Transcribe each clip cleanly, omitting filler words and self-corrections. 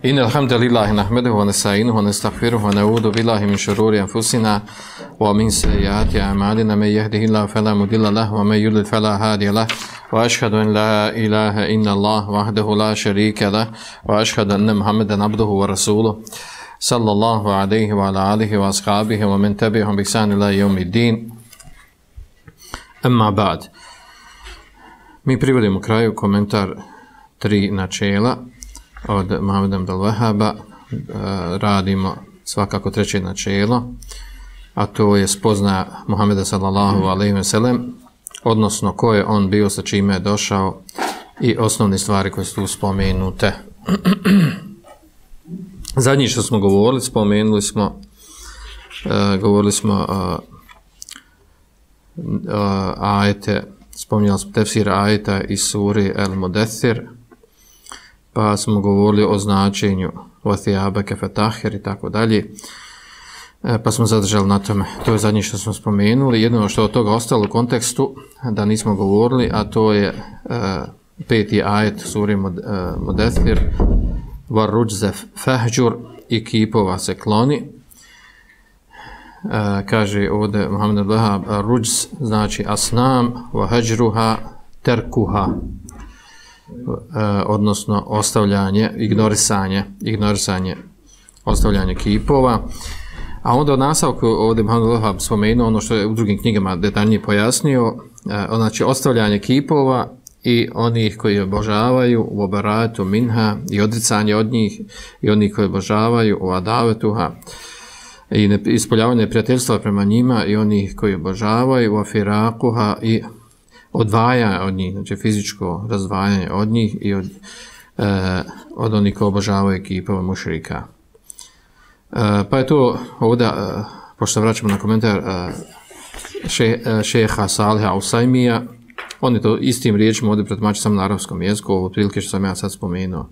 إن الحمد لله نحمده ونستعينه ونستغفره ونعوذ بالله من شرور أنفسنا ومن سيئات أعمالنا من يهده الله فلا مضل له ومن يضلل فلا هادي له وأشهد أن لا إله إلا الله وحده لا شريك له وأشهد أن محمدا عبده ورسوله صلى الله عليه وعلى آله وأصحابه ومن تبعهم بإحسان إلى يوم الدين أما بعد. Mi privodimo kraju komentar 3 načela od Muhameda ibn al-Wahhaba. Radimo svakako 3. načelo, a to je spoznaja Muhameda sallallahu alejhi ve sellem, odnosno ko je on bio, sa čime je došao i osnovne stvari koje su tu spomenute. Zadnji što smo govorili, govorili smo ajete, spominjali smo tefsir ajeta iz suri El-Mudaththir, pa smo govorili o značenju وَثِيَابَكَ فَتَحِّرْ i tako dalje, pa smo zadržali na tome. To je zadnje što smo spomenuli. Jedno što od toga ostalo u kontekstu da nismo govorili, a to je 5. ajet suri Mudaththir, وَالرُّجْزَ فَهْجُرْ i kipova se kloni. Kaže ovdje Muhammed al-Wahhab, ruđz znači asnam, وَهَجْرُهَا terkuha, odnosno ostavljanje, ignorisanje, ostavljanje kipova. A onda od nastavku ovdje Muhammed al-Wahhab spomenuo ono što je u drugim knjigama detaljnije pojasnio, znači ostavljanje kipova i onih koji obožavaju u obaratu minha i odricanje od njih i onih koji obožavaju u adavetuha i ispoljavanje prijateljstva prema njima i onih koji obožavaju u afirakuha i odvajanje od njih, znači fizičko razdvajanje od njih i od onih koji obožavaju kipova mušrika. Pa je to ovdje, pošto vraćamo na komentar šeha Saliha Usajmija, on je to istim riječima ovdje pretumači samo na arapskom jeziku, ovo prilike što sam ja sad spomenuo.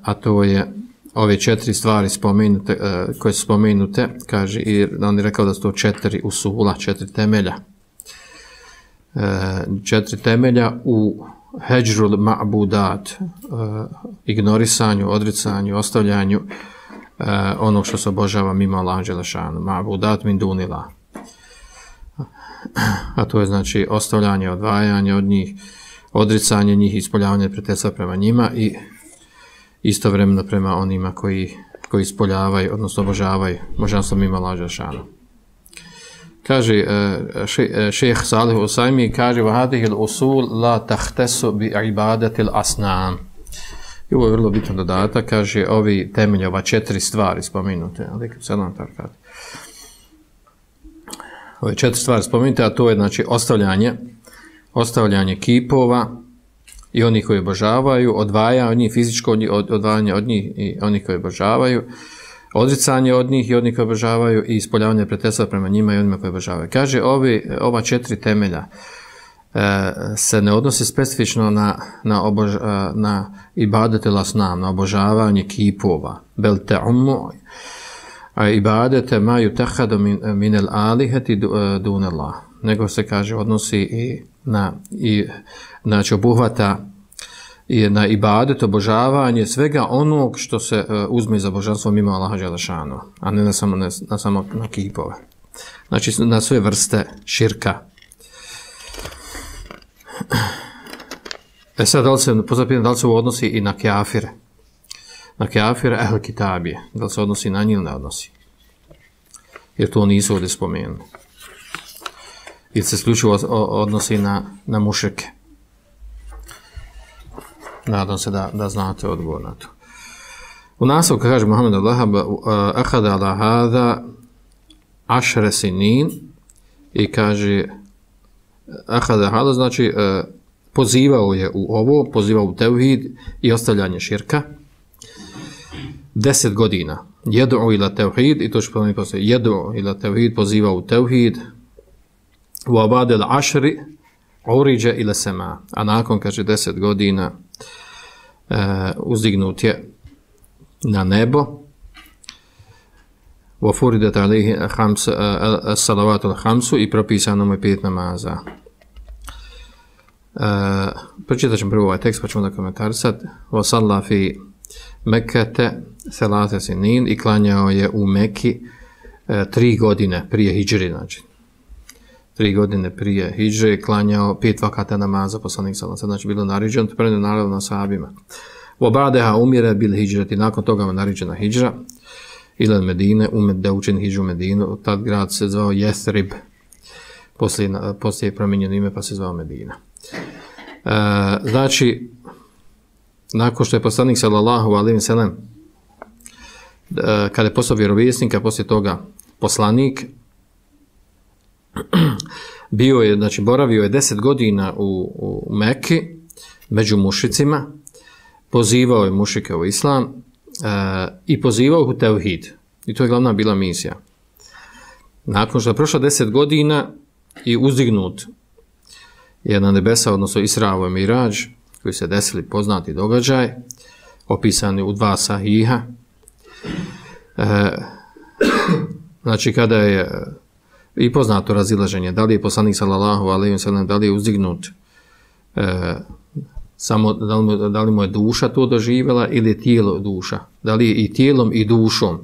A to je ove 4 stvari spomenute, koje su spomenute, kaže, i on je rekao da su to 4 usula, 4 temelja. 4 temelja u heđrul ma'budat, ignorisanju, odricanju, ostavljanju onog što se obožava mimo Allaha dželešanu, ma'budat min dunillah. A to je znači ostavljanje, odvajanje od njih, odricanje njih, ispoljavanje prijateljstva prema njima i istovremeno prema onima koji ispoljavaju, odnosno obožavaju božanstvo mimo Allaha dželešanu. Kaže šejh Salih Usajmi, kaže وَهَذِهِ الْأُصُولِ لَا تَخْتَسُ بِعِبَادَةِ الْأَصْنَامِ. I ovo je vrlo bitan dodatak, kaže ovi temelji, ova 4 stvari spomenute, ove 4 stvari spomenute, a to je znači ostavljanje kipova i onih koji obožavaju, odvajanje od njih, fizičko odvajanje od njih i onih koji obožavaju, odricanje od njih i onih koji obožavaju i ispoljavanje prijateljstva prema njima i onima koji obožavaju. Kaže, ova 4 temelja se ne odnosi specifično na ibadetel asnam, na obožavanje kipova, bel te'ummu, a ibadete ma yutahadu min al-alihati dunallah, nego se kaže odnosi i znači obuhvata i na ibadet, obožavanje svega onog što se uzme za božanstvo mimo Allaha dželešanu, a ne samo na kipove. Znači na sve vrste širka. Sad da li se ovo odnosi i na kafire? Na kafire ehl kitabije. Da li se odnosi na njih ili ne odnosi? Jer to nisu ovdje spomenuli. Ili se isključivo odnosi na mušrike. Nadam se da znate odgovor na to. U nastavku kaže Muhammed al-Wahhab, ahada ala hada 10 sinin, i kaže ahada hada znači pozivao je u ovo, pozivao u tevhid i ostavljanje širka 10 godina. Jedu ila tevhid, i to što pomeni postoje, jedu ila tevhid, pozivao u tevhid, u abadel ašri uriđe ila sema, a nakon, kaže, 10 godina uzdignut je na nebo, u furidet alihi salavatul hamsu, i propisano mu je 5 namaza. Pročitat ćemo prvo ovaj tekst, pa ćemo da komentarisati. Wa salla fi Mekete selate sinin i klanjao je u Meki 3 godine prije hidžre, znači 3 godine prije hidžre klanjao 5 vakata namaza poslanik sallallahu alejhi ve sellem, znači bilo naređeno, to prenosi naravno na sahabima. Wa ba'daha umira bil hidžrati, nakon toga je naređena hidžra ila Medine, da učini hidžu Medinu, tad grad se zvao Yathrib, poslije je promijenjeno ime pa se zvao Medina. Znači, nakon što je poslanik sallallahu alejhi ve sellem kada je postao vjerovjesnik, a poslije toga poslanik, bio je, znači boravio je 10 godina u Mekki među mušicima, pozivao je mušike u islam i pozivao u tevhid. I to je glavna bila misija. Nakon što je prošlo 10 godina i uzdignut je na nebesa, odnosno Isra i Mirađ, koji se desili poznati događaj, opisani u 2 sahiha. Znači kada je i poznato razilaženje, da li je poslanik sallallahu alejhi ve sellem, da li je uzdignut samo, da li mu je duša to doživjela ili je tijelo duša, da li je i tijelom i dušom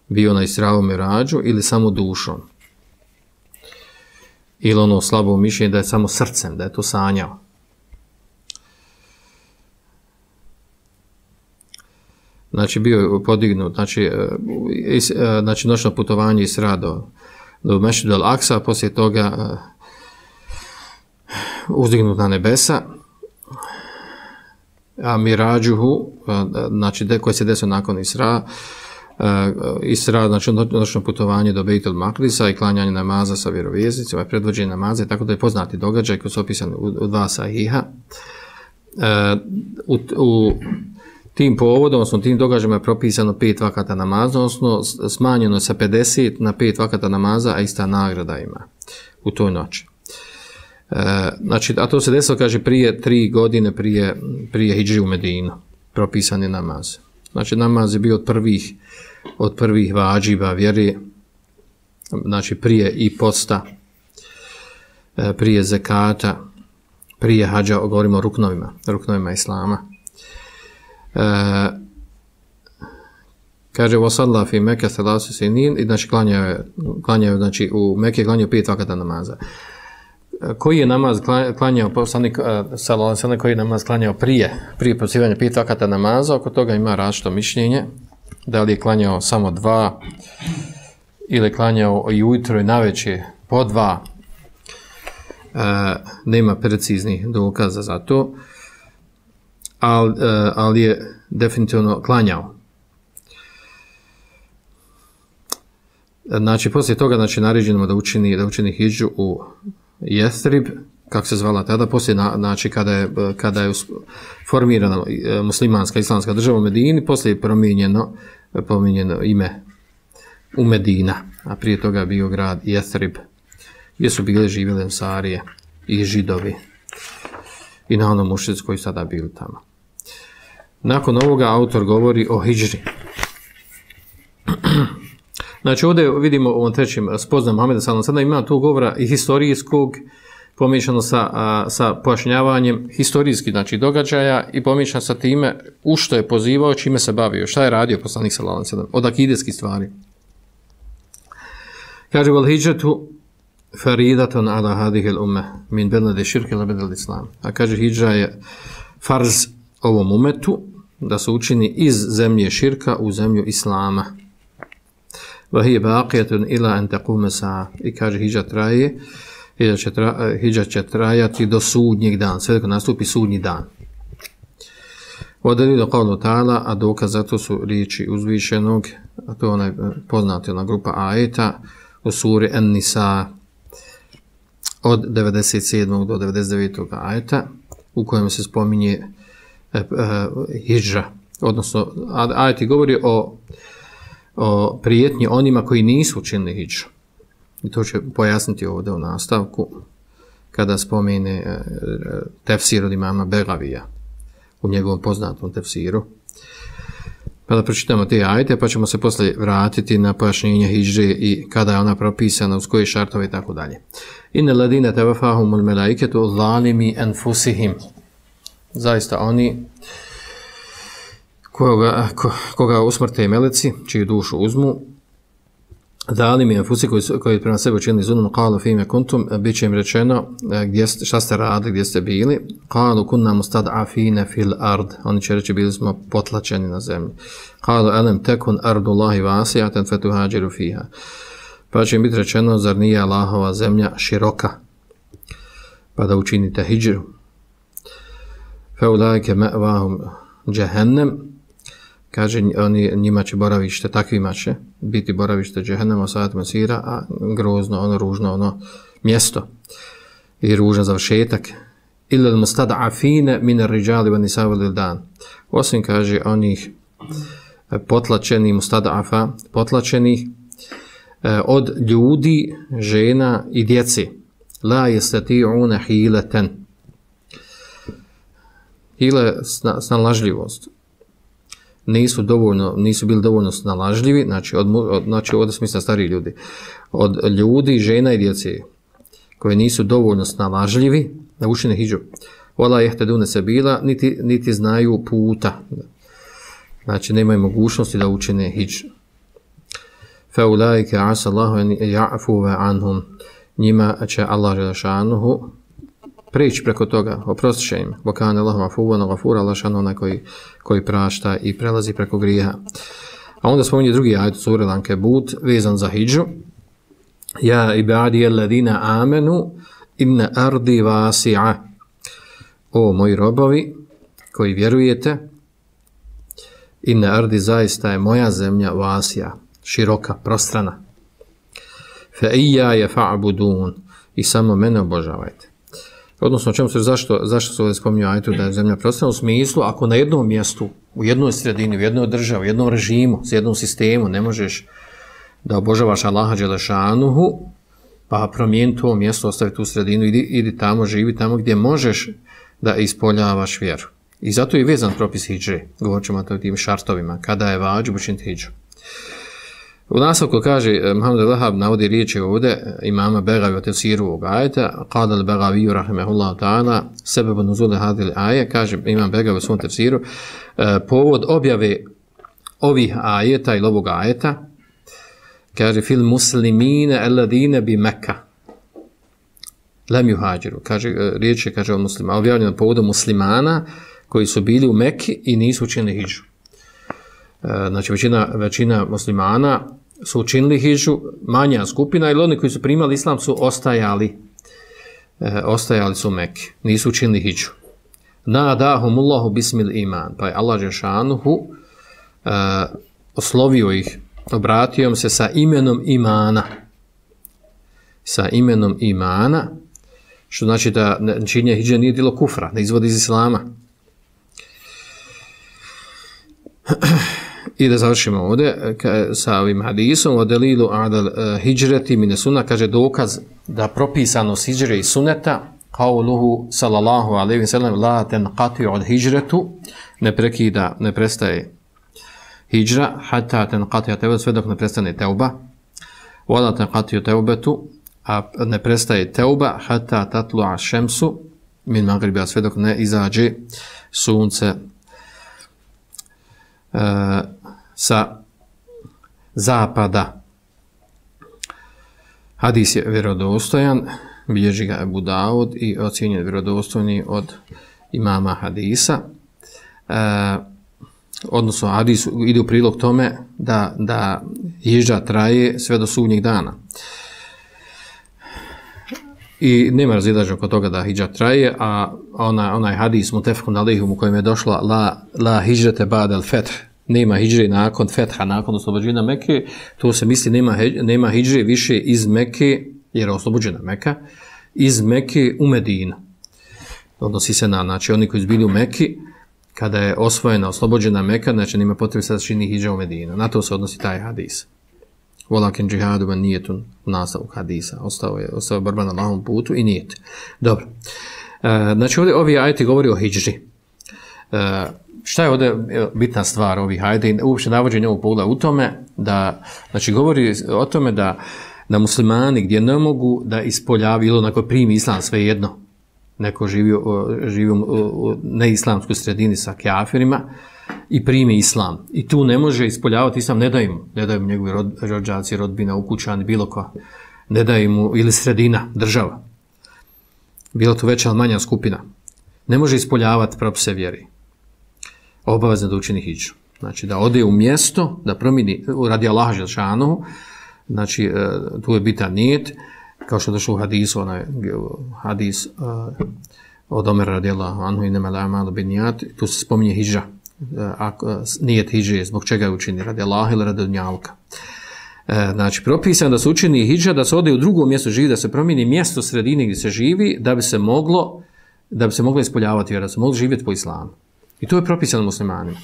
bio na Isra i Mirađu ili samo dušom, ili ono slabo mišljenje da je samo srcem, da je to sanjao. Znači bio je podignut, znači noćno putovanje Isra do Mešćida al-Aksa, poslije toga uzdignut na nebesa, a Mirađuhu, znači koji se desio nakon Isra, znači noćno putovanje do Bejtul Makrisa i klanjanje namaza sa vjerovjesnicima, predvođenje namaza, tako da je poznati događaj koji su opisani u 2 sahiha. U tim povodom, odnosno tim događajima je propisano 5 vakata namaza, odnosno smanjeno sa 50 na 5 vakata namaza, a ista nagrada ima u toj noći. Znači, a to se desilo, kaže, prije 3 godine prije hidži u Medinu, propisani namaz. Znači, namaz je bio od prvih vađiba vjeri, znači prije i posta, prije zekata, prije hađa, govorimo o ruknovima islama. Kaže wasalla fi Mekka thalath sinin, i znači klanjao znači u Mekke klanjao 5 vakata namaza. Koji je namaz klanjao poslanik sallallahu alejhi ve sellem, koji je namaz klanjao prije pozivanja 5 vakata namaza? Oko toga ima različito mišljenje, da li je klanjao samo 2 ili klanjao i ujutro i navečer po 2. Nema preciznih dokaza za to, ali je definitivno klanjao. Znači, poslije toga, znači, naređeno da učini hidžu u Yathrib, kako se zvala tada, poslije, znači, kada je formirana muslimanska islamska država u Medini, poslije je promijenjeno ime u Medina, a prije toga je bio grad Yathrib, gdje su bile živjeli Ensarije i Židovi i na onom mušici koji sada bili tamo. Nakon ovoga autor govori o hidžri. Znači ovdje vidimo u ovom trećem spoznam Muhameda sallallahu alejhi ve sellem, ima tu govora i historijskog, pomiješano sa pojašnjavanjem historijskih, znači, događaja i pomiješano sa time u što je pozivao, čime se bavio, šta je radio poslanik sallallahu alejhi ve sellem, od akideskih stvari. Kaže wal hidžatu faridatun ala hadhihi al-umma min beladi shirki ila beladi islam. A kaže hidža je farz ovom umetu da se učini iz zemlje širka u zemlju islama. Wa hiya baqiyatun ila an taquma sa'a. I kaže hidža će trajati do sudnjeg dana, sve dok nastupi sudnji dan. Wa dalilu qawlu ta'ala, a dokaz za to su riječi uzvišenog, a to je onaj poznati ona grupa ajeta u suri An-Nisa od 97. do 99. ajeta, u kojem se spominje hidža, odnosno ajeti govori o prijetnji onima koji nisu učinili hidžu. I to će pojasniti ovdje u nastavku kada spomene tefsir od imama Begavija u njegovom poznatom tefsiru. Pa da pročitamo te ajete, pa ćemo se poslije vratiti na pojašnjenje hidže i kada je ona propisana, uz koje šartove i tako dalje. Inna ladina tawafahumul malaiketu zalimi anfusihim. Zaista oni koga usmrte meleci, čiju dušu uzmu, dali mi enfusi koji prema sebi učinili zulum, qalu fime kuntum, bit će im rečeno šta ste radili, gdje ste bili, qalu kunna mustad'afina fil ard, oni će reći bili smo potlačeni na zemlji, qalu alam takun ardullahi wasi'atan fatuhajiru fiha, pa će im biti rečeno zar nije Allahova zemlja široka, pa da učinite hidžru, fa ulaike ma'vahum jahannam, kaže njima će boravište, takvima će biti boravište džehennema, sa'at masira, a grozno, ono ružno, ono mjesto i ružan završetak. Illa al-mustad'afina min ar-rijali wan nisa'i wal wildan. Osim kaže onih potlačenih mustad'afa, potlačenih od ljudi, žena i djece. La yastati'una hilatan. Hile snalažljivost. Nisu bili dovoljno snalažljivi, znači ovdje smisla stariji ljudi, od ljudi, žena i djece, koji nisu dovoljno snalažljivi da učine hidžu. Wala yahtaduna sabila, niti znaju puta. Znači nemaju mogućnosti da učine hidžu. Fa ulaika asa Allahu an ya'fu anhum. Njima će Allah dželešanuhu prijeći preko toga, oprostit će im. Wa kana Allahu afuwan ghafura, Allah šano onaj koji prašta i prelazi preko grijeha. A onda spominje drugi ajet sure Ankebut vezan za hidžu. Ja ibadi alladina amanu inna ardi wasi'a. O moji robovi koji vjerujete, inna ardi zaista je moja zemlja wasi'a, široka, prostrana. Fa iyaya fa'budun, i samo mene obožavajte. Odnosno, čemu se, zašto se ovdje spominju ajetu da je zemlja prostrana? U smislu, ako na jednom mjestu, u jednoj sredini, u jednoj državi, u jednom režimu, s jednom sistemu ne možeš da obožavaš Allaha dželešanuhu, pa promijeni to mjesto, ostavi tu sredinu, idi tamo, živi tamo gdje možeš da ispoljavaš vjeru. I zato je vezan propis hidže. Govorit ćemo o tim šartovima, kada je vađib učiniti hidžu. U nastavku kaže, Muhammed al-Wahhab navodi riječi ovdje imama Begavi o tefsiru ovog ajeta, qala al-Begavi rahimahullahu ta'ala, sebebu nuzule hadil aje, kaže imam Begavi u svom tefsiru, povod objave ovih ajeta ili ovog ajeta, kaže fil muslimine alladine bi Mekka lam yuhajiru, kaže riječi kaže o muslimana, objavljeno povodom muslimana koji su bili u Mekki i nisu učinili hidžu. Znači većina muslimana su učinili hidžu, manja skupina, ili oni koji su primali islam su ostajali su u Mekki, nisu učinili hidžu. Nadahumullahu bismil iman, pa je Allah dželešanuhu oslovio ih, obratio im se sa imenom imana. Sa imenom imana, što znači da činjenje hidže nije djelo kufra, ne izvodi iz islama. I da završimo ovdje sa ovim hadisom o delilu adal hijreti mine sunna, kaže dokaz da propisanost hidžre i suneta qauluhu sallallahu alejhi ve sellem la tanqati od hijretu, ne prestaje hidžra hatta tanqati tevba, sve dok ne prestane teuba, wala tanqati tevbetu, a ne prestaje teuba hatta tatlu'a šemsu min magriba, sve dok ne izađe sunce sa zapada. Hadis je vjerodostojan, bilježi ga Ebu Daud i ocjenjen vjerodostojni od imama hadisa. Odnosno, hadis ide u prilog tome da hidža traje sve do sudnjeg dana. I nema razilaženja oko toga da hidža traje, a onaj hadis mutefekun alejhum u kojem je došla la hidžete ba'dal feth, nema hidžre nakon fetha, nakon oslobođenja Mekke, to se misli nema hidžre više iz Mekke, jer je oslobođena Meka, iz Mekke u Medinu. Odnosi se na, znači oni koji su bili u Mekki, kada je osvojena, oslobođena Meka, znači nema potrebe sad čini hidža u Medinu. Na to se odnosi taj hadis. Walakin džihadu ben nijetun, u nastavku hadisa. Ostao je borba na Allahovom putu i nijet. Dobro. Znači ovdje ovi ajeti govori o hidži. Šta je ovdje bitna stvar ovih ajeta i uopće navođenje ovog pogleda u tome da, znači govori o tome da muslimani gdje ne mogu da ispoljavaju ili onako primi islam svejedno, neko živi u neislamskoj sredini sa kafirima i primi islam. I tu ne može ispoljavati islam, ne daju mu njegovi rođaci, rodbina, ukućani, bilo ko. Ne daju mu, ili sredina, država. Bilo to veća ili manja skupina. Ne može ispoljavati propise vjeri. Obavezno da učini hidžu. Znači da ode u mjesto, da promijeni, radi Allaha dželešanohu, znači tu je bitan nijet, kao što je došlo u hadisu, hadis od Omera radijallahu anhu innamal a'malu binnijat, tu se spominje hidža. Nijet hidže, zbog čega je učini, radi Allaha ili radi dunjaluka. Znači, propisano da se učini hidža, da se ode u drugo mjesto živi, da se promijeni mjesto sredine gdje se živi, da bi se moglo ispoljavati vjera, da se moglo živjeti po islamu. I to je propisano muslimanima.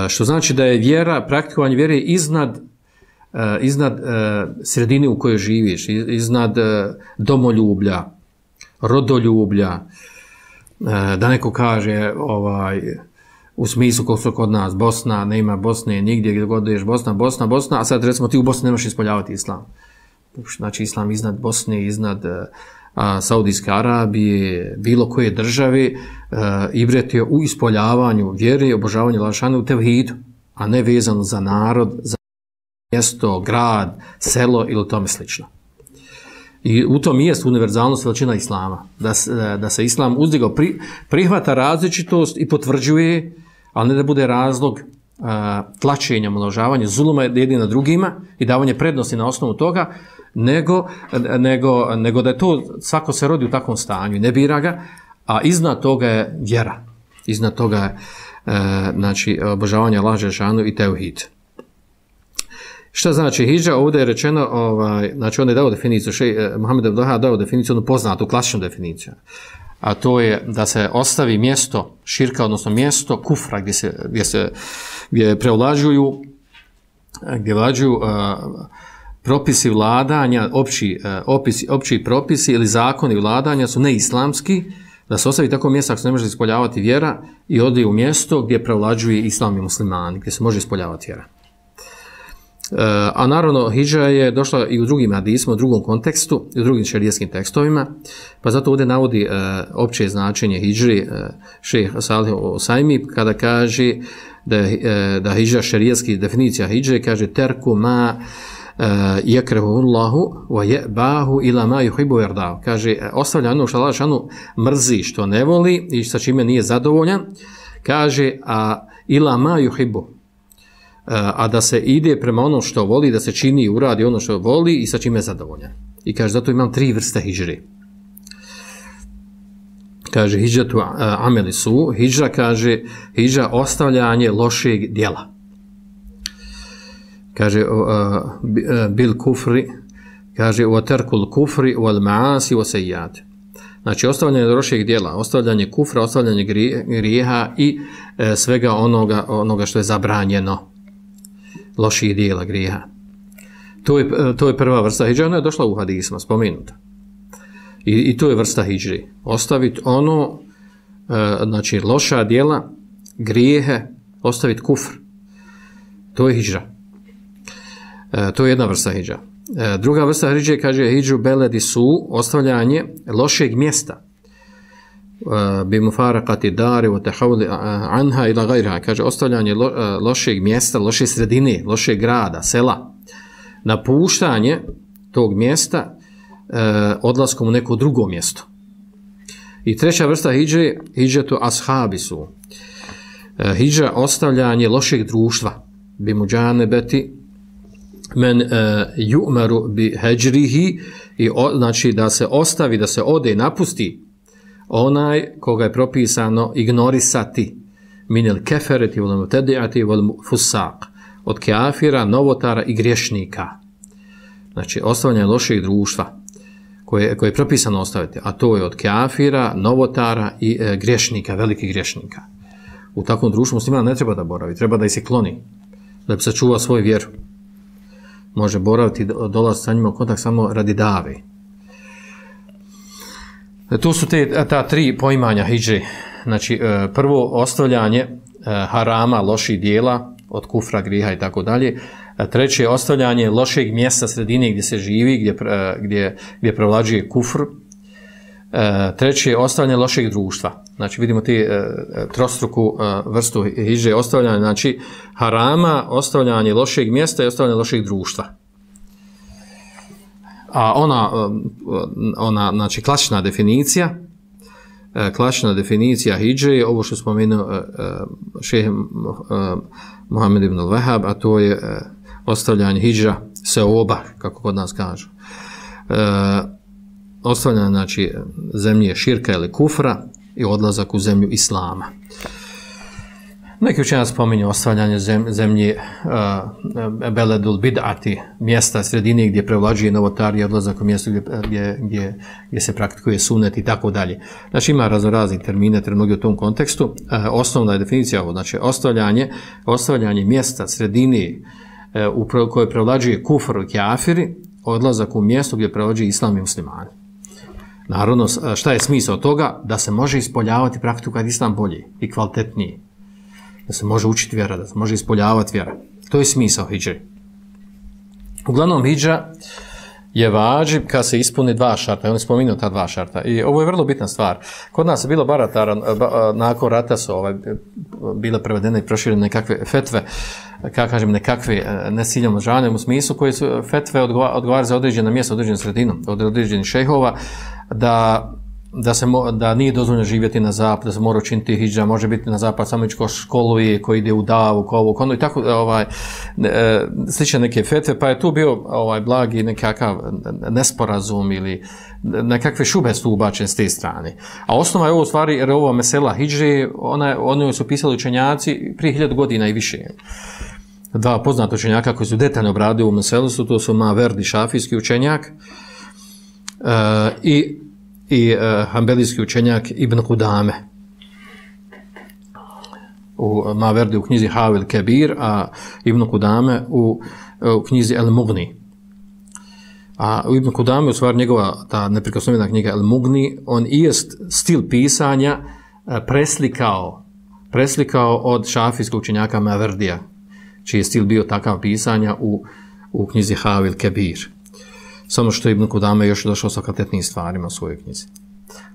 Što znači da je vjera, praktikovanje vjere iznad sredine u kojoj živiš, iznad domoljublja, rodoljublja, da neko kaže u smislu kako su kod nas Bosna, nema Bosne nigdje, gdje god ideš Bosna, a sad recimo ti u Bosni nemaš ispoljavati islam. Znači islam iznad Bosne, iznad Saudijske Arabije, bilo koje države, ibret je u ispoljavanju vjere i obožavanju Allaha u tevhidu, a ne vezano za narod, za mjesto, grad, selo ili tome slično. I u tom jest univerzalnost veličina islama, da se islam uzdigao, prihvata različitost i potvrđuje, ali ne da bude razlog tlačenja, množavanja, zuluma jedni na drugima i davanje prednosti na osnovu toga, nego da je to, svako se rodi u takvom stanju i ne bira ga, a iznad toga je vjera, iznad toga je znači, obožavanje Allaha dželešanohu i tevhid. Šta znači hidža? Ovdje je rečeno, znači on je dao definiciju, Muhammed Abdul Wahhab dao definiciju, onu poznatu, klasičnu definiciju. A to je da se ostavi mjesto širka, odnosno mjesto kufra gdje prevlađuju propisi vladanja, opći propisi ili zakoni vladanja su neislamski, da se ostavi tako mjesto ako se ne može ispoljavati vjera i ode u mjesto gdje prevlađuje islam i muslimani, gdje se može ispoljavati vjera. A naravno hidža je došla i u drugim hadisima, u drugom kontekstu i u drugim šerijskim tekstovima, pa zato ovdje navodi opće značenje hidžri šejh Salih Osajmi kada kaže da hidža šerijski definicija hidže kaže terku ma yakrahu Allahu wa yabahu ila ma yuhibbu wa yarda. Kaže ostavlja ono što Allah dželešanohu mrzi, što ne voli i sa čime nije zadovoljan, kaže a ila ma yuhibbu, a da se ide prema onom što voli, da se čini i uradi ono što voli i sa čime je zadovoljan. I kaže, zato imam 3 vrste hidžri. Kaže, hidžatu ameli su, hidža kaže, hidža ostavljanje lošeg djela. Kaže, bil kufri, kaže, u terkul kufri, u al maasi, u sejjat. Znači, ostavljanje lošeg djela, ostavljanje kufra, ostavljanje grijeha i svega onoga što je zabranjeno. Loših dijela, grijeha. To je prva vrsta hidža, ona je došla u hadisma, spomenuta. I to je vrsta hidžri. Ostaviti ono, znači loša dijela, grijehe, ostaviti kufr. To je hidža. To je jedna vrsta hidža. Druga vrsta hidže kaže hidžu beledi su ostavljanje lošeg mjesta. Bi mufaraqati dari wa tahawuli anha ila ghayriha, kaže ostavljanje lošeg mjesta, loše sredine, lošeg grada, sela, napuštanje tog mjesta odlaskom u neko drugo mjesto. I treća vrsta hidže, hidžetu ashabi su hidža ostavljanje lošeg društva, bi muđanebeti men yu'maru bi hajrihi, i znači da se ostavi, da se ode i napusti onaj koga je propisano ignorisati minel kefereti vol mutediati vol fusaq, od kafira, novotara i griješnika. Znači ostavljanje lošeg društva koje je propisano ostaviti, a to je od kafira, novotara i griješnika, velikih griješnika. U takvom društvu musliman ne treba da boravi, treba da ih se kloni, da bi sačuvao svoju vjeru. Može boraviti, dolaziti sa njima u kontakt samo radi dave. To su ta 3 poimanja hidže. Znači, prvo ostavljanje harama, loših dijela, od kufra, griha i tako dalje. Treće je ostavljanje lošeg mjesta, sredine gdje se živi, gdje prevlađuje kufr. Treći je ostavljanje lošeg društva. Znači vidimo ti trostruku vrstu hidže ostavljanja, znači harama, ostavljanje lošeg mjesta i ostavljanje lošeg društva. A ona znači klasična definicija hidže je ovo što spomenuo šejh Muhammed ibn al-Wahhab, a to je ostavljanje hidža seoba, kako kod nas kažu. Ostavljanje znači zemlje širka ili kufra i odlazak u zemlju islama. Neki učenjaci spominju ostavljanje zemlje beledul bid'ati, mjesta sredine gdje prevlađuje novotarija, odlazak u mjesto gdje se praktikuje sunet i tako dalje. Znači ima raznorazni termine, mnogi u tom kontekstu. Osnovna je definicija ovo, znači ostavljanje mjesta sredine u kojoj prevlađuje kufr i kafiri, odlazak u mjesto gdje prevlađuje islam i muslimani. Naravno, šta je smisao toga? Da se može ispoljavati praktiku kad islam bolji i kvalitetniji. Da se može učiti vjera, da se može ispoljavati vjera. To je smisao hidže. Uglavnom, hidža je vađib kad se ispuni dva šarta. On je spomenuo ta dva šarta. I ovo je vrlo bitna stvar. Kod nas je bilo baratara, nakon rata su bile prevedene i proširene nekakve fetve, kako kažem, nekakve nesiljamo žaljem u smislu koje su fetve odgovaraju za određena mjesta, određenu sredinu, od određenih šejhova, da nije dozvoljeno živjeti na zapad, da se mora učiniti hidža, može biti na zapad samo ići ko školovi, koji ide u davu, ko ovo, kono i tako, slične neke fetve, pa je tu bio blagi nekakav nesporazum ili nekakve šube su ubačene s te strane. A osnova je ovo u stvari, jer ovo mesela hidže, oni su pisali učenjaci prije 1000 godina i više. Dva poznata učenjaka koji su detaljno obradili u meselu su, to su Maverdi, šafijski učenjak, i hanbelijski učenjak Ibn Qudame. Maverdi u knjizi Havil Kebir, a Ibn Qudame u knjizi El Mughni. A u Ibn Qudame, u stvari njegova ta neprikosnovena knjiga El Mughni, on i jest stil pisanja preslikao od šafijskog učenjaka Maverdija, čiji je stil bio takav pisanja u knjizi Havil Kebir. Samo što Ibn Qudame još došao sa kvalitetnim stvarima u svojoj knjizi.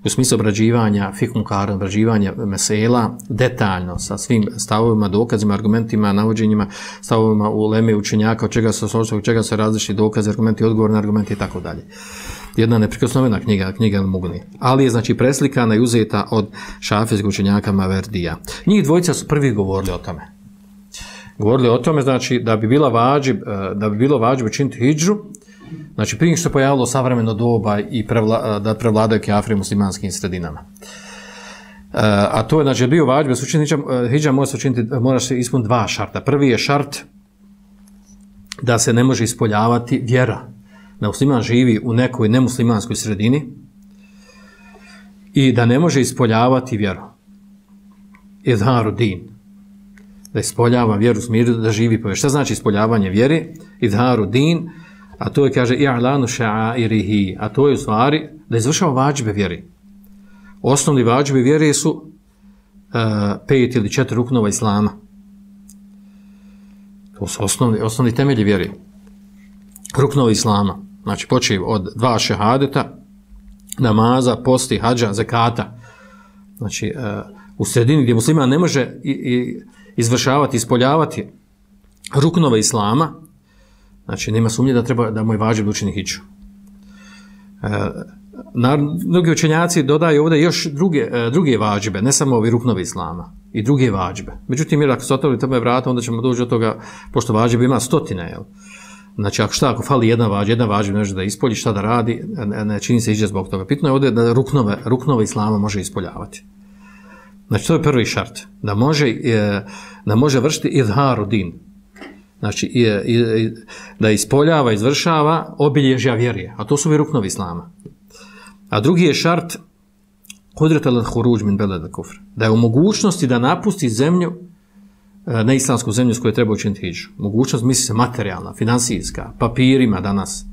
U smislu obrađivanja, fikmunkara, obrađivanja mesela, detaljno, sa svim stavovima, dokazima, argumentima, navođenjima, stavovima u leme učenjaka, od čega se različiti dokazi, argumenti, odgovor na argumenti i tako dalje. Jedna neprikosnovena knjiga El Mughni. Ali je znači preslikana i uzeta od šafijskog učenjaka Maverdija. Njih dvojica su prvi govorili o tome. Govorili o tome, znači, da bi bilo vađib učiniti hidžu, znači prije što se pojavilo savremeno doba i da prevladaju kafiri muslimanskim sredinama. A to je, znači, bio vađib, hidža mora se ispuniti dva šarta. Prvi je šart da se ne može ispoljavati vjera. Da musliman živi u nekoj nemuslimanskoj sredini i da ne može ispoljavati vjeru. Izharu din. Da ispoljava vjeru u smiru, da živi po vjeri. Šta znači ispoljavanje vjeri? Izharu din. A to je, kaže, i'lanu ša'airihi, a to je u stvari da izvršava vađbe vjeri. Osnovni vađbe vjeri su 5 ili 4 ruknova islama. To su osnovni temelji vjeri. Ruknova islama. Znači, počev od 2 šehadeta, namaza, posti, hadža, zekata. Znači, u sredini gdje musliman ne može izvršavati, ispoljavati ruknova islama, znači, nema sumnje da mu je vađib učini hidžu. Mnogi učenjaci dodaju ovdje još druge vađibe, ne samo ovi ruknovi islama, i druge vađibe. Međutim, jer ako se otvorili tome vrata, onda ćemo doći od toga, pošto vađibe ima 100, jel? Znači, ako fali jedna vađib ne može da ispolji, šta da radi, ne čini se hidža zbog toga. Pitno je ovdje da ruknove islama može ispoljavati. Znači, to je prvi šart, da može vršiti izharu din. Znači, da ispoljava, izvršava obilježja vjerije, a to su ruknovi islama. A drugi je šart kudret al-huruđ min beled al-kufr, da je u mogućnosti da napusti zemlju, neislamsku zemlju s kojoj treba učiniti hidžu. Mogućnost misli se materijalna, finansijska, papirima danas,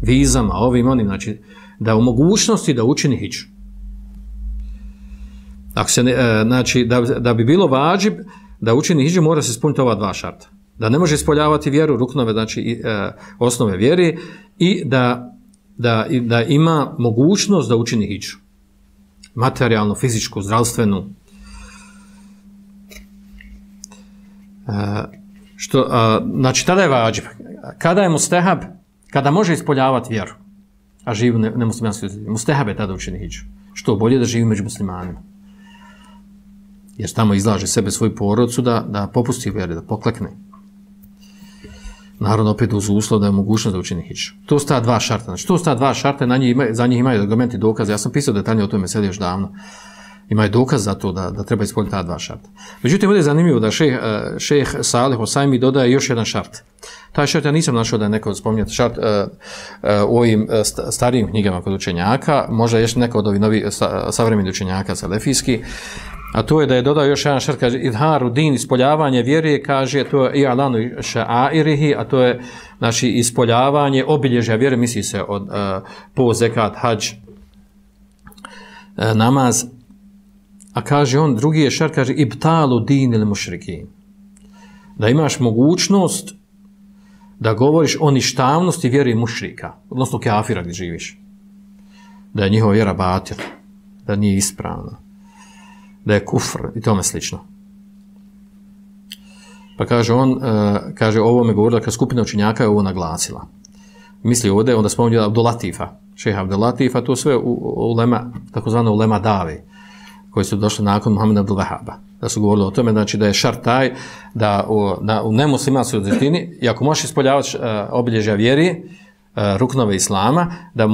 vizama, ovim, onim, znači, da u mogućnosti da učini hidžu. Znači, da bi bilo vađib da učini hidžu, mora se ispuniti ova dva šarta. Da ne može ispoljavati vjeru, ruknove, znači osnove vjere, i da ima mogućnost da učini hidžu. materijalnu, fizičku, zdravstvenu. Znači, tada je vađib. Kada je mustehab, kada može ispoljavati vjeru, a živi nemuslimanski ljudi, mustehab je tada učini hidžu. Što bolje da živi među muslimanima. Jer tamo izlaže sebe svoju porodcu da popusti vjeri, da poklekne. Naravno, opet uz uslov da je mogućnost da učini hidžu. To su ta dva šarta. Znači, to su ta dva šarta, za njih imaju argumenti, dokaze. Ja sam pisao detaljnije o tome sedi još davno. Imaju dokaz za to da treba ispoljiti ta dva šarta. Međutim, ovdje je zanimljivo da šejh Salih Hosajmi dodaje još jedan šart. Taj šart ja nisam našao da je neko spominjati šart u ovim starijim knjigama kod učenjaka, možda još neko od ovih novih savremenih učenjaka salefijski, a to je da je dodao još jedan šart, kaže idharu din, ispoljavanje vjere, kaže to je i'lanu ša'airihi, a to je znači ispoljavanje obilježja vjere, misli se od po zekat, hadž, namaz. A kaže on, drugi je šart, kaže ibtalu din ili mušrikin. Da imaš mogućnost da govoriš o ništavnosti vjeri mušrika, odnosno kafira gdje živiš. Da je njihova vjera batil, da nije ispravna, da je kufr i tome slično. Pa kaže on, kaže ovo me govorila kad skupina učenjaka je ovo naglasila. Misli ovdje, onda spominje Abdulatifa, šeha Abdulatifa, to sve ulema, takozvano ulema Davi, koji su došli nakon Muhameda Abdul Vahaba. Da su govorili o tome, znači da je šart taj da u nemuslimanskoj desetini, i ako možeš ispoljavati obilježja vjeri, ruknove islama, da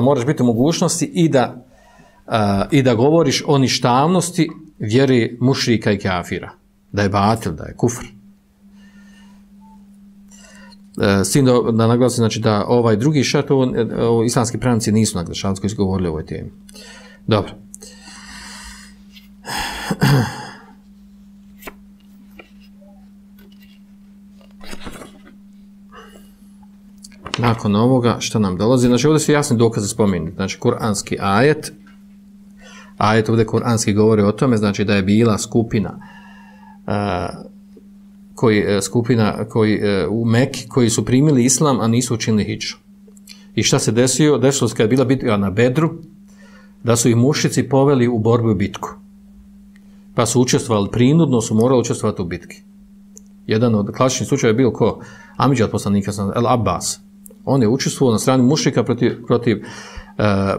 moraš biti u mogućnosti i da govoriš o ništavnosti vjeri mušrika i kafira. Da je batil, da je kufr. S tim da naglasim, znači da ovaj drugi šart, islamski pravnici nisu naglašavali koji su govorili o ovoj temi. Dobro. Nakon ovoga, što nam dolazi? Znači, ovdje su jasni dokaze spomenuti. Znači, kuranski ajet ovdje kuranski govori o tome, znači da je bila skupina u Meki koji su primili islam, a nisu učinili hidžu. I šta se desilo? Desilo se kad je bila bitka na Bedru, da su ih mušici poveli u borbu i bitku. Pa su učestvovali prinudno, su morali učestvovati u bitki. Jedan od klasičnih slučaja je bio ko? Amidžad poslanika, El Abbas. On je učestvovao na strani mušrika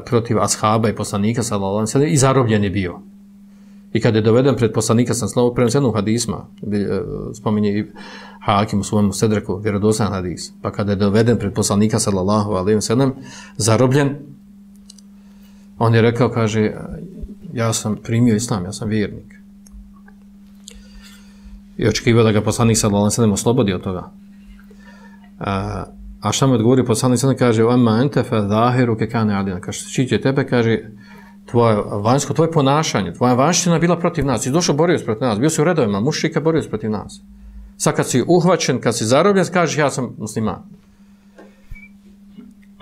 protiv ashaba i poslanika sallallahu alejhi ve sellem i zarobljen je bio. I kad je doveden pred poslanika sallallahu alejhi ve sellem u hadisma, spominje i Hakim u svojom sedreku, vjerodostojan hadis. Pa kada je doveden pred poslanika sallallahu alejhi ve sellem, zarobljen, on je rekao, kaže, ja sam primio islam, ja sam vjernik. I očekivao da ga poslanik sallallahu alejhi ve sellem oslobodi od toga. A šta mu odgovori poslanik sallallahu alejhi ve sellem, kaže amma ente fa zahiruke kane adina, kaže štiće tebe, kaže tvoje ponašanje, tvoja vanština bila protiv nas, si došao borio se protiv nas, bio si u redovima mušrika, borio se protiv nas. Sad kad si uhvaćen, kad si zarobljen, kažeš ja sam musliman.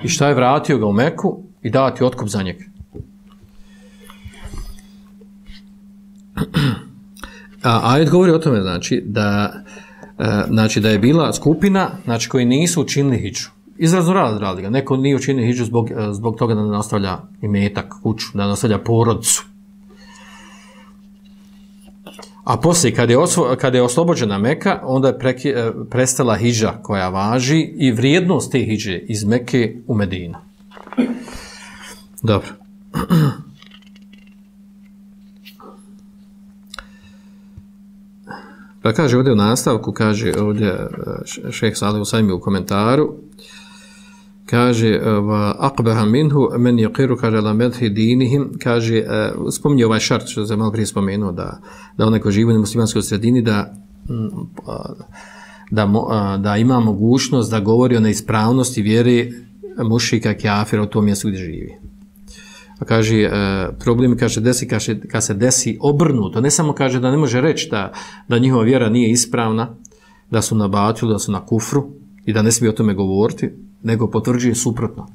I šta je, vratio ga u Meku i dao ti otkup za njega. Ajet govori o tome, znači da je bila skupina, znači koji nisu učinili hidžu. Izrazno radi ga. Neko nije učinio hidžu zbog toga da ne nastavlja imetak, kuću, da ne nastavlja porodcu. A poslije, kad je oslobođena Meka, onda je prestala hidža koja važi i vrijednost te hidže iz Meke u Medinu. Dobro. Pa kaže ovdje u nastavku, kaže ovdje šejh Salih Husajmi u komentaru, kaže aqbaha minhu men yaqiru kaže la madhi dinihim, kaže spominje ovaj šart što se malo prije spomenuo da onaj ko živi u muslimanskoj sredini da ima mogućnost da govori o neispravnosti vjere mušrika kafira u tom mjestu gdje živi. A kaže problem kaže kad se desi obrnuto, ne samo kaže da ne može reći da njihova vjera nije ispravna, da su na batilu, da su na kufru i da ne smije o tome govoriti, nego potvrđuje suprotno.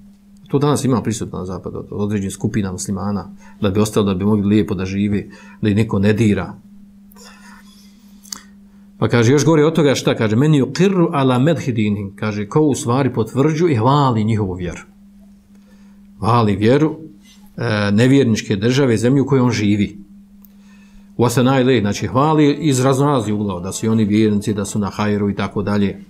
To danas ima prisutno na zapadu od određenih skupina muslimana, da bi ostalo, da bi mogli lijepo da živi, da ih neko ne dira. Pa kaže, još govori od toga šta, kaže, meni yuqirru ala medhi dinihim, kaže, ko u stvari potvrđuje i hvali njihovu vjeru. Hvali vjeru nevjerničke države, zemlju u kojoj on živi. Wasanajle, znači hvali iz raznoraznih uglova, da su oni vjernici, da su na hajru i tako dalje.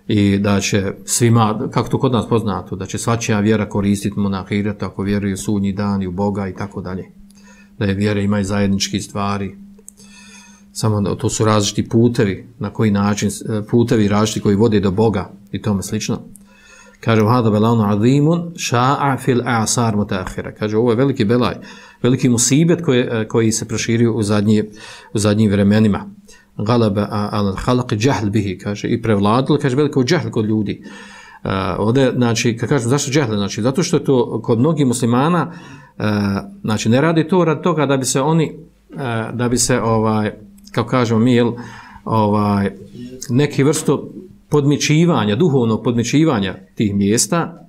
I da će svima, kako to kod nas poznato, da će svačija vjera koristiti mu na ahiretu ako vjeruju u sudnji dan i u Boga i tako dalje. Da je vjera ima i zajednički stvari. Samo to su različiti putevi, na koji način, putevi različiti koji vode do Boga i tome slično. Kaže, hada belanu azimun ša'a fil a'sar mutaakhira. Kaže, ovo je veliki belaj, veliki musibet koji se proširio u zadnjim vremenima. Galaba al khalq jahl bihi, kaže, i prevladilo, kaže, veliko džehl kod ljudi. Ovdje, znači, kad kažem zašto džehl, znači, zato što je to kod mnogih muslimana, znači, ne radi to radi toga da bi se oni, da bi se, kako kažemo mi, neki vrstu podmićivanja, duhovnog podmićivanja tih mjesta,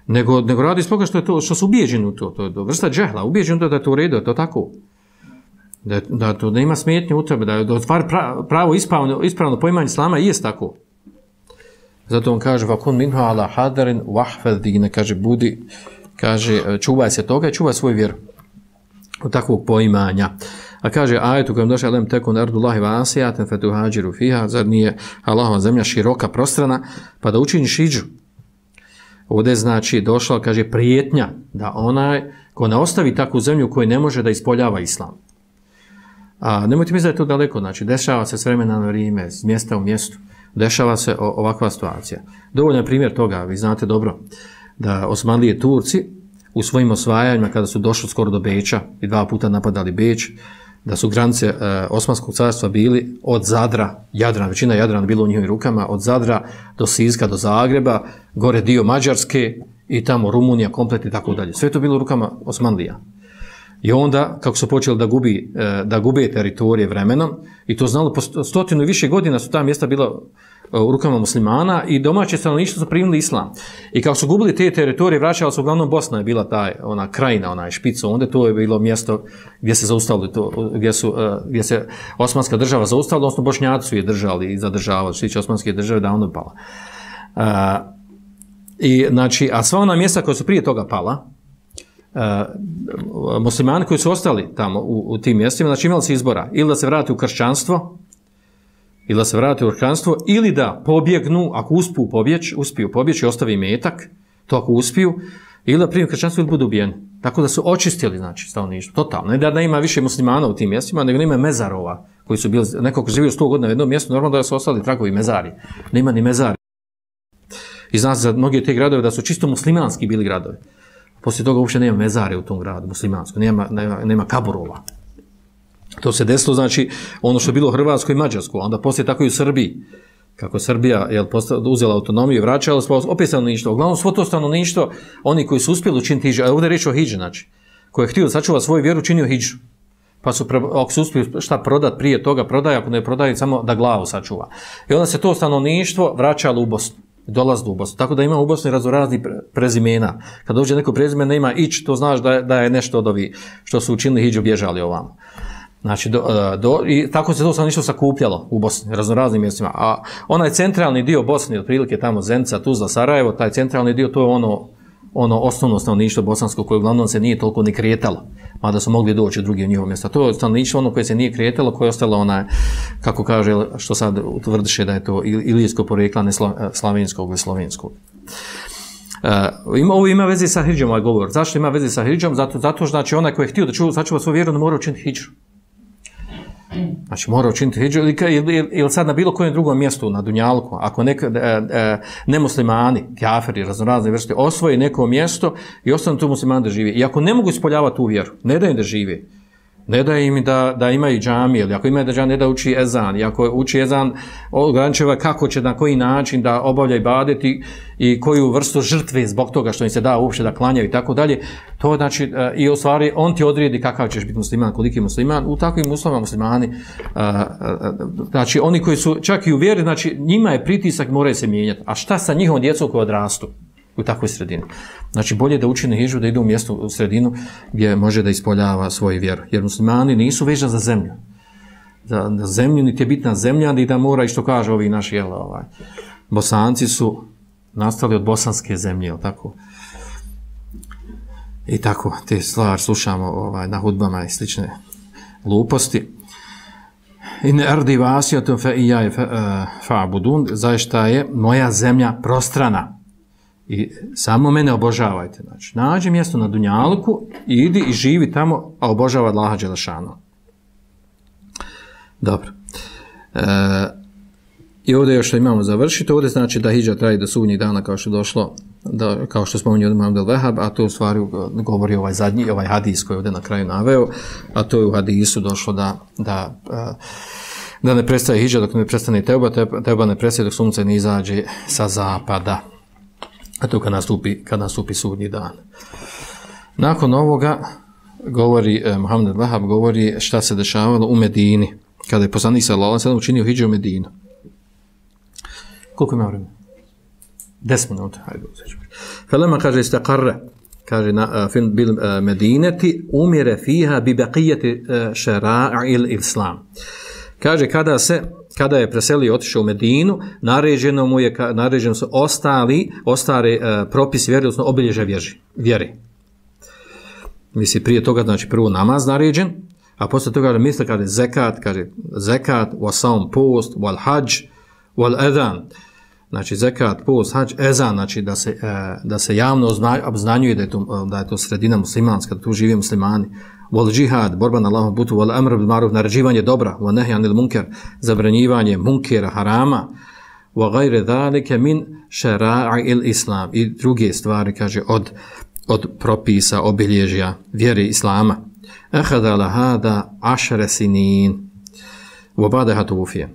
nego radi zbog što je to, što su ubijeđeni u to je vrsta džehla, ubijeđeni da je to u redu, da je to tako, da to ne ima smetnje u tebe, da je pravo ispravno poimanje islama i jest tako. Zato on kaže, vakun minha ala hadarin wahfad dine, kaže, budi, kaže, čuvaj se toga i čuvaj svoju vjeru od takvog poimanja. A kaže ajet u kojem došao lem tekun ardullahi vasijaten fetuhađiru fiha, zar nije Allahova zemlja široka, prostrana, pa da učiniš hidžu. Ovdje znači došla, kaže, prijetnja da onaj ko ne ostavi takvu zemlju u kojoj ne može da ispoljava islam. A nemojte misliti da je to daleko, znači dešava se s vremena na vrijeme, s mjesta u mjestu, dešava se ovakva situacija. Dovoljno je primjer toga, vi znate dobro, da Osmanlije Turci u svojim osvajanjima, kada su došli skoro do Beča i 2 puta napadali Beč, da su granice Osmanskog carstva bili od Zadra, Jadrana, većina Jadrana bilo u njihovim rukama, od Zadra do Siska, do Zagreba, gore dio Mađarske i tamo Rumunija, komplet i tako dalje. Sve to bilo u rukama Osmanlija. I onda, kako su počeli da gube teritorije vremenom, i to znalo po 100 i više godina su ta mjesta bila u rukama muslimana i domaće stanovništvo su primili islam. I kako su gubili te teritorije, vraćala se uglavnom Bosna, je bila ona krajina, onaj špico, onda to je bilo mjesto gdje se zaustavili to, gdje se Osmanska država zaustavila, odnosno Bošnjaci su je držali i zadržavali, što tiče Osmanske države, da ono pala. I znači, a sva ona mjesta koja su prije toga pala, muslimani koji su ostali tamo u tim mjestima, znači imali se izbora, ili da se vrati u kršćanstvo, ili da pobjegnu, ako uspiju pobjeći i ostavi metak, to ako uspiju, ili da primi kršćanstvo ili budu ubijeni. Tako da su očistili, znači, stanovništvo, totalno. Ne da ima više muslimana u tim mjestima, nego nema mezarova, koji su bili, neko ko živio 100 godina u jednom mjestu, normalno da su ostali tragovi mezari. Nema ni mezari. I zna se za mnoge te gradove da su čisto muslimanski bili gradovi. Poslije toga uopće nema mezare u tom gradu, muslimansko, nema kaburova. To se desilo, znači, ono što je bilo u Hrvatskoj i Mađarskoj, onda poslije tako i u Srbiji. Kako je Srbija uzela autonomiju i vraćala, opet stanovništvo. Uglavnom, svo to stanovništvo, oni koji su uspjeli učiniti hidžu, a ovdje je riječ o hidži, znači, koji je htio da sačuva svoju vjeru, činio hidžu. Pa su, ako su uspjeli šta prodat prije toga, prodaje, ako ne prodaje, samo da glavu sačuva. I onda se to stanovništvo vraćalo u Bosnu. Dolazilo u Bosnu. Tako da ima u Bosni raznorazni prezimena. Kad dođe neko prezime, nema ić, to znaš da je nešto od ovih što su učinili hidžu bježali ovamo. Znači, i tako se to stanovništvo sakupljalo u Bosni, raznoraznim mjestima. A onaj centralni dio Bosne, otprilike tamo Zenica, Tuzla, Sarajevo, taj centralni dio, to je ono osnovno stanovništvo bosansko koje uglavnom se nije toliko ni kretalo, mada su mogli doći u drugi njihovo mjesta. To je stanovništvo ono koje se nije kretalo, koje je ostalo onaj, kako kaže, što sad utvrdiše da je to ilijsko porekla, ne slavenskog ili slovenskog. Ovo ima veze sa hidžom, ovaj govor. Zašto ima veze sa hidžom? Zato što znači onaj koji je htio da sačuva svoju vjeru, ne mora učiniti hidžu. Znači mora učiniti hidžu ili sad na bilo kojem drugom mjestu na Dunjalku, ako nemuslimani, kafiri, raznorazne vrste, osvoje neko mjesto i ostanu tu muslimani da žive. I ako ne mogu ispoljavati tu vjeru, ne da im da žive, ne da im da imaju džamije, ili ako imaju da džamije, ne da uči ezan, i ako uči ezan, ograničava kako će, na koji način da obavlja ibadet i koju vrstu žrtve zbog toga što im se da uopšte da klanjaju i tako dalje, to znači, i u stvari on ti odredi kakav ćeš biti musliman, koliki musliman, u takvim uslovima muslimani, znači oni koji su čak i u vjeri, znači njima je pritisak, moraju se mijenjati, a šta sa njihovom djecom koji odrastu u takvoj sredini? Znači bolje da učine hidžu, da idu u mjesto, u sredinu gdje može da ispoljava svoju vjeru. Jer muslimani nisu vezani za zemlju. Za zemlju niti je bitna zemlja, ni da mora, i što kaže ovi naši Bosanci su nastali od bosanske zemlje, tako. i tako te stvari slušamo na hudbama i slične gluposti. In ardi vasiyatun fa iyaya fa'budun, zaista je moja zemlja prostrana i samo mene obožavajte. Znači, nađi mjesto na dunjalku i idi i živi tamo, a obožava Allaha dželešanu. Dobro. I ovdje još što imamo završiti, ovdje znači da hidža traje do sudnjeg dana kao što je došlo, kao što spominje Imam Abdel Vehab, a to u stvari govori ovaj zadnji, ovaj hadis koji je ovdje na kraju naveo, a to je u hadisu došlo da ne prestaje hidža dok ne prestane teuba ne prestaje dok sunce ne izađe sa zapada. A to kad nastupi sudnji dan. Nakon ovoga govori Muhammed Vahab govori šta se dešavalo u Medini kada je poslanik sallallahu alejhi ve sellem učinio hidžu u Medinu. Koliko ima vremena? 10 minuta. Hajde. Falama kaže istaqarra, kaže fil bil Medinati umira fiha bi baqiyati shara'il islam. Kaže kada je preselio otišao u Medinu, naređeno su ostale propisi vjere, odnosno obilježja vjere. Misli prije toga, znači prvo namaz naređen, a posle toga misle kaže zekat, wa saum post, wal hadž, wal adhan. Znači zekat, post, hadž, ezan, znači da se javno obznanjuje da je to sredina muslimanska, da tu žive muslimani. Wal džihad, borba na Allahovom putu, wal amr bil maruf, naređivanje dobra, wa nahy anil munkar, zabranjivanje munkera, harama, wa gajre zalike min šara'il islam, i druge stvari, kaže, od propisa, obilježja vjere islama. Ahadala hada 10 sinin, wa ba'daha tuwfiya.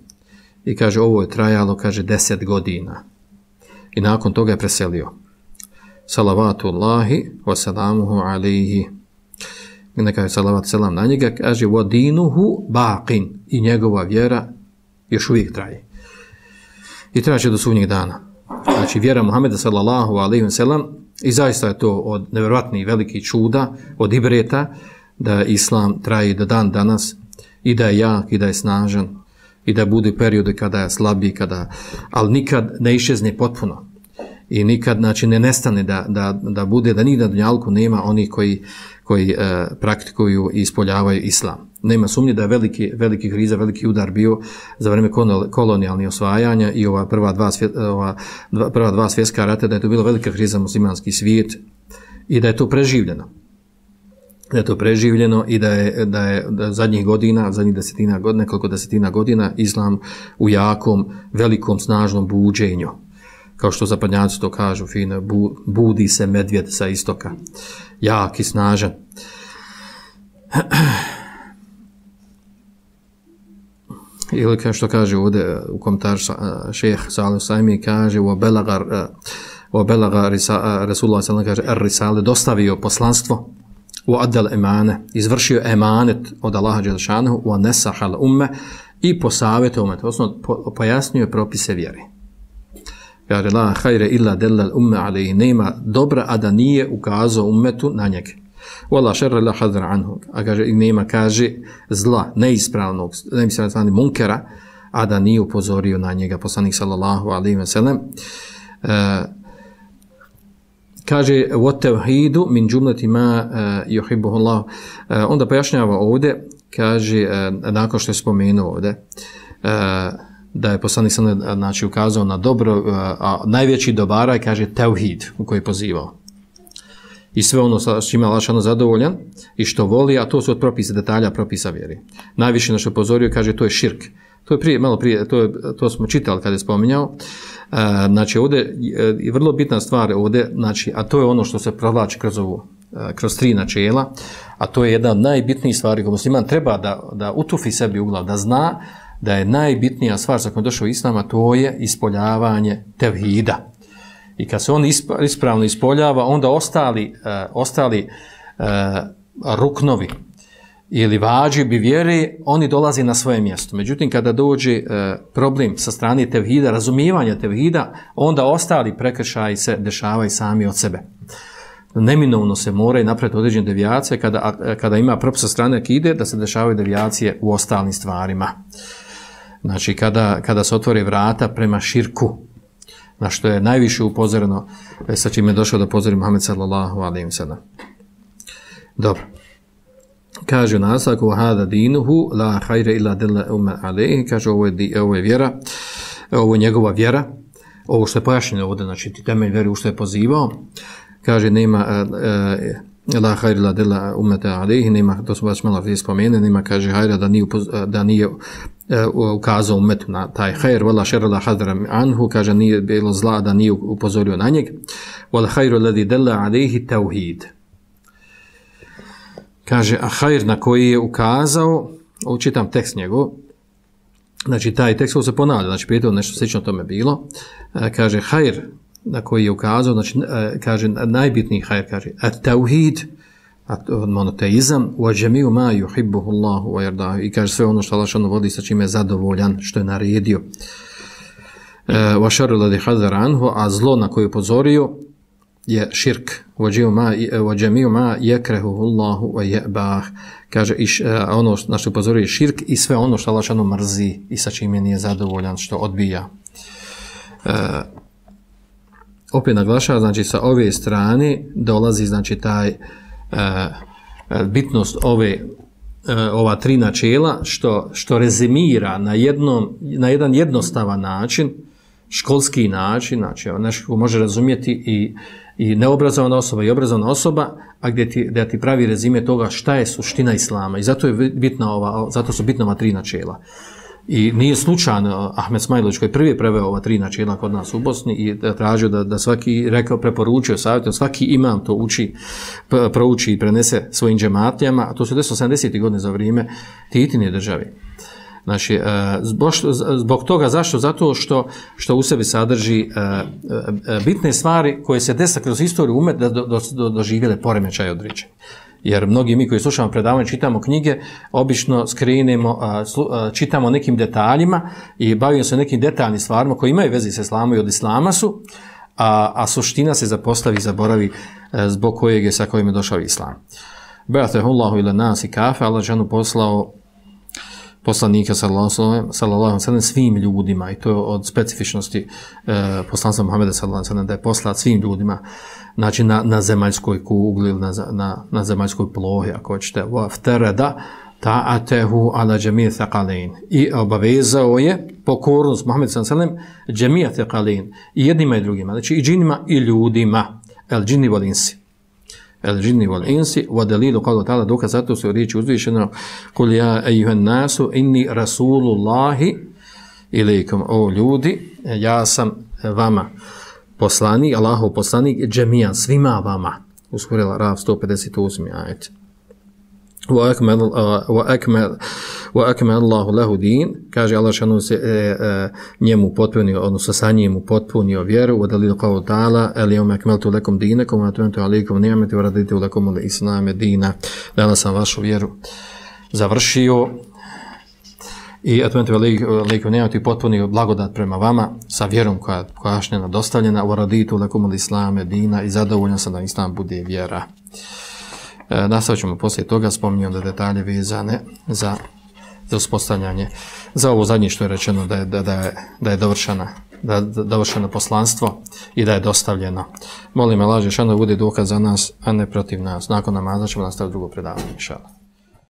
I kaže, ovo je trajalo, kaže, 10 godina. I nakon toga je preselio. Salavatullahi wa salamuhu alaihi. Neka je salavat selam na njega, kaže wadinuhu baqin, i njegova vjera još uvijek traje. I traje do sudnjeg dana. Znači vjera Muhameda sallallahu alejhi ve sellem, i zaista je to od nevjerojatnih velikih čuda, od ibreta, da islam traje do dan danas, i da je jak, i da je snažan, i da bude periode kada je slabiji, ali nikad ne iščezne potpuno. I nikad, znači, ne nestane da bude, da nigdje na dunjalku nema onih koji praktikuju i ispoljavaju islam. Nema sumnje da je veliki kriza, veliki udar bio za vrijeme kolonijalnih osvajanja i ova prva dva svjetska rata, da je to bila velika kriza muslimanski svijet i da je to preživljeno. I da je zadnjih godina, nekoliko desetina godina, islam u jakom, velikom, snažnom buđenju. Kao što zapadnjaci to kažu, fino, budi se medvjed sa istoka. Jak i snažan. Ili kao što kaže ovdje u komentaru šejh Salih Sajmi, kaže وَبَلَغَ Rasulullah sallam, kaže ar-risale, dostavio poslanstvo, وَأَدَّلْ emane, izvršio emanet od Allaha dželešanu, وَنَسَحَ الْأُمَّ, i posavjetio umet, odnosno pojasnio propise vjere. Kaže, la hajre illa delal umme alaihi, nema dobra, a da nije ukazao ummetu na njega. Wala šerre la hadra anhu, a kaže, nema, kaže, zla, neispravnog munkera, a da nije upozorio na njega, poslanik sallallahu alaihi wa sallam. Kaže, wa tevhidu min džumleti ma yuhibbuhu Allah. Onda pojašnjava ovdje, kaže, nakon što je spomenuo ovdje, da je poslanik sallallahu, znači, ukazao na dobro, a najveći dobara je, kaže, tevhid, u koji je pozivao. I sve ono s čime Allah zadovoljan i što voli, a to su od propisa, detalja propisa vjeri. Najviše na što je pozorio, kaže, to je širk. To je malo prije, to smo čitali kada je spominjao. Znači, ovdje je vrlo bitna stvar ovdje, znači, a to je ono što se provlači kroz tri načela, a to je jedna od najbitnijih stvari koju musliman treba da utufi sebi u glavu, da zna da je najbitnija stvar sa kojom je došao Islam, a to je ispoljavanje tevhida. I kad se on ispravno ispoljava, onda ostali ruknovi ili vađibi vjere, oni dolazi na svoje mjesto. Međutim, kada dođe problem sa strane tevhida, razumijevanja tevhida, onda ostali prekršaji se dešavaju sami od sebe. Neminovno se moraju napraviti određene devijacije kada ima propis sa strane akide, da se dešavaju devijacije u ostalim stvarima. Znači, kada se otvore vrata prema širku, na što je najviše upozoreno, sa čim je došao da upozori Muhammed sallallahu alejhi ve sellem. Dobro. Kaže u nastavku hada dinuhu la khayra illa dalla umma alayhi, kaže ovo je vjera, ovo je njegova vjera, ovo što je pojašnjeno ovdje, znači temelj vjere u što je pozivao, kaže nema la khayra illa dalla umma alayhi, nema, to smo baš malo prije spomenuli, nema, kaže hajra da nije ukazao umetu na taj khair, wala sharra la hadra anhu, kaže nije bilo zla da nije upozorio na njega, wal khayru alladhi dalla alayhi tauhid. Kaže, a hajr na koji je ukazao, učitam tekst njegov, znači taj tekst se ponavlja, znači prije nešto slično tome bilo, kaže, hajr na koji je ukazao, znači, kaže, najbitniji hajr, kaže, at-tauhid, monoteizam, wa džemiju ma yuhibbuhu Allahu wa yardahu, i kaže sve ono što Allah vodi sa čime je zadovoljan, što je naredio, wa sharru alladhi hadara anhu, a zlo na koje je upozorio, je širk, wa džemiju ma yakrahuhu Allahu wa yabah, kaže, ono na što upozorio je širk i sve ono što Allah mrzi i sa čime nije zadovoljan, što odbija. Opet naglašava, znači sa ove strane dolazi, znači taj bitnost ova tri načela, što rezimira na jedan jednostavan način, školski način, znači nešto može razumjeti i neobrazovana osoba i obrazovana osoba, a gdje ti pravi rezime toga šta je suština islama. I zato su bitna ova tri načela. I nije slučajno Ahmed Smajlović koji prvi preveo ova tri načela kod nas u Bosni i tražio da svaki, preporučio, savjetio, svaki imam to prouči i prenese svojim džematljama, a to se desilo 70. godine za vrijeme Titine države. Znači, zbog toga, zašto? Zato što u sebi sadrži bitne stvari koje se desa kroz istoriju umet da doživjele poremećaje određenje. Jer mnogi mi koji slušamo predavanje, čitamo knjige, obično skrenemo, čitamo nekim detaljima i bavimo se nekim detaljnim stvarima koji imaju veze s islamom i od islama su, a suština se zapostavi i zaboravi zbog kojeg je sa kojim je došao islam. Ba'athahullahu ila nasi kafe, Allah džanu poslao poslanika sallallahu alejhi ve sellem svim ljudima, i to je od specifičnosti poslanstva Muhameda sallallahu alejhi ve sellem, da je poslat svim ljudima, znači na zemaljskoj kugli ili na zemaljskoj plohi, ako hoćete, waftarada ta'atahu ala jami' thaqalain, i obavezao je pokornost Muhameda sallallahu alejhi ve sellem jami' thaqalain, i jednima i drugima, znači i džinima i ljudima, el džinni wal insi, el džinni wal insi, wa dalilu qawlu ta'ala, dokaz zato se u riječi uzvišeno, kul ja ejuhan nasu inni rasulullahi ilaikum, o ljudi, ja sam vama poslanik, Allahov poslanik, džemijan, svima vama, uskurila Rav 158. ajet. Wa akmal Allahu lahu din, kaže Allah šanu se njemu potpunio, odnosno sa njemu potpunio vjeru, wa dalilu qawlu ta'ala, el yawma akmaltu lakum dinakum wa atmamtu alaykum ni'mati wa raditu lakum al-islam dina, danas sam vašu vjeru završio i atmamtu alaykum ni'mati, potpunio blagodat prema vama sa vjerom koja je pojašnjena, dostavljena, wa raditu lakum al-islam dina, i zadovoljan sam da islam bude vjera. Nastavit ćemo poslije toga, spominjam da detalje vezane za uspostavljanje, za ovo zadnje što je rečeno da je dovršeno poslanstvo i da je dostavljeno. Molim Allah dželešanu da bude dokaz za nas, a ne protiv nas. Nakon namaza ćemo nastaviti drugo predavanje, inšallah.